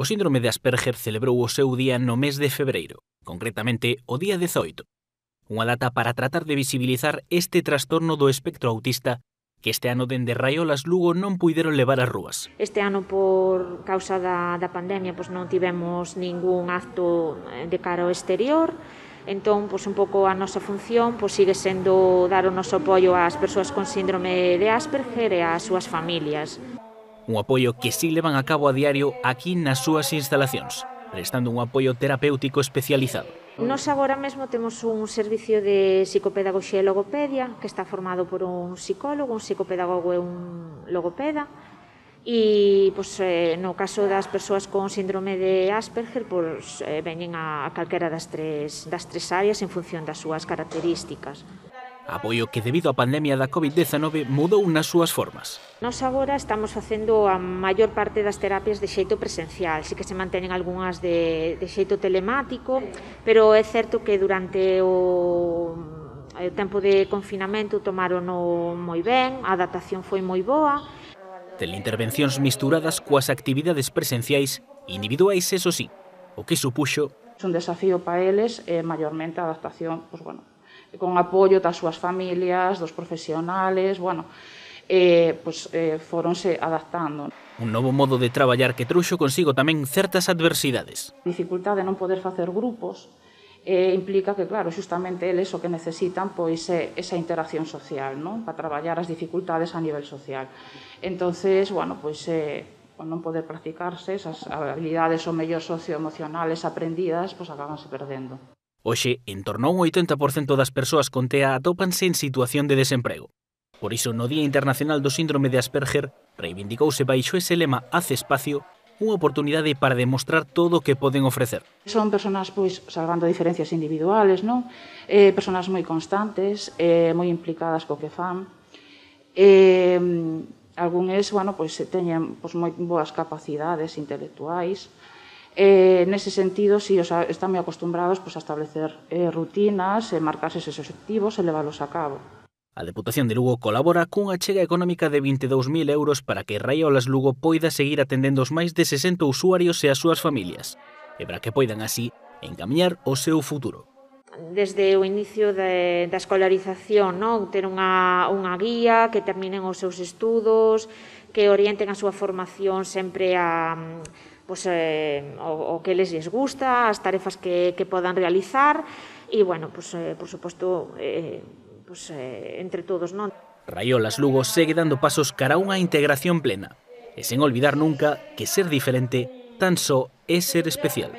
O síndrome de Asperger celebrou o seu día no mes de febreiro, concretamente o día 18, unha data para tratar de visibilizar este trastorno do espectro autista que este ano dende Raiolas Lugo non puideron levar ás rúas. Este ano, por causa da pandemia, non tivemos ningún acto de cara ao exterior, entón, un pouco a nosa función sigue sendo dar o noso apoio ás persoas con síndrome de Asperger e ás súas familias. Un apoio que si levan a cabo a diario aquí nas súas instalacións, prestando un apoio terapéutico especializado. Nos agora mesmo temos un servicio de psicopedagoxía e logopedia que está formado por un psicólogo, un psicopedagogo e un logopeda. E no caso das persoas con síndrome de Asperger veñen a calquera das tres áreas en función das súas características. Apoio que debido á pandemia da COVID-19 mudou nas súas formas. Nos agora estamos facendo a maior parte das terapias de xeito presencial, si que se manteñen algunhas de xeito telemático, pero é certo que durante o tempo de confinamento tomarono moi ben, a adaptación foi moi boa. Teleintervencións misturadas coas actividades presenciais individuais, eso sí, o que supuxo un desafío para eles é maiormente a adaptación, con apoio das súas familias, dos profesionales, foronse adaptando. Un novo modo de traballar que trouxo consigo tamén certas adversidades. A dificultade de non poder facer grupos implica que, claro, xustamente eles o que necesitan é esa interacción social, non? Para traballar as dificultades a nivel social. Entonces, non poder practicarse, esas habilidades ou mellor socioemocionales aprendidas, acabanse perdendo. Hoxe, en torno a un 80% das persoas con TEA atópanse en situación de desemprego. Por iso, no Día Internacional do Síndrome de Asperger, reivindicouse baixo ese lema Haz espacio, unha oportunidade para demostrar todo o que poden ofrecer. Son persoas, salvando diferencias individuales, non? Persoas moi constantes, moi implicadas co que fan. Algúns, teñen moi boas capacidades intelectuais. Nese sentido, están moi acostumbrados a establecer rutinas, marcarse eses obxectivos e leválos a cabo. A Deputación de Lugo colabora cunha achega económica de 22.000 euros para que Raiolas Lugo poida seguir atendendo os máis de 60 usuarios e as súas familias, e para que poidan así encamiñar o seu futuro. Desde o inicio da escolarización, ter unha guía, que terminen os seus estudos, que orienten a súa formación sempre a o que les gusta, as tarefas que podan realizar e, por suposto, entre todos, non? Raiolas Lugo segue dando pasos cara a unha integración plena e sen olvidar nunca que ser diferente tan só é ser especial.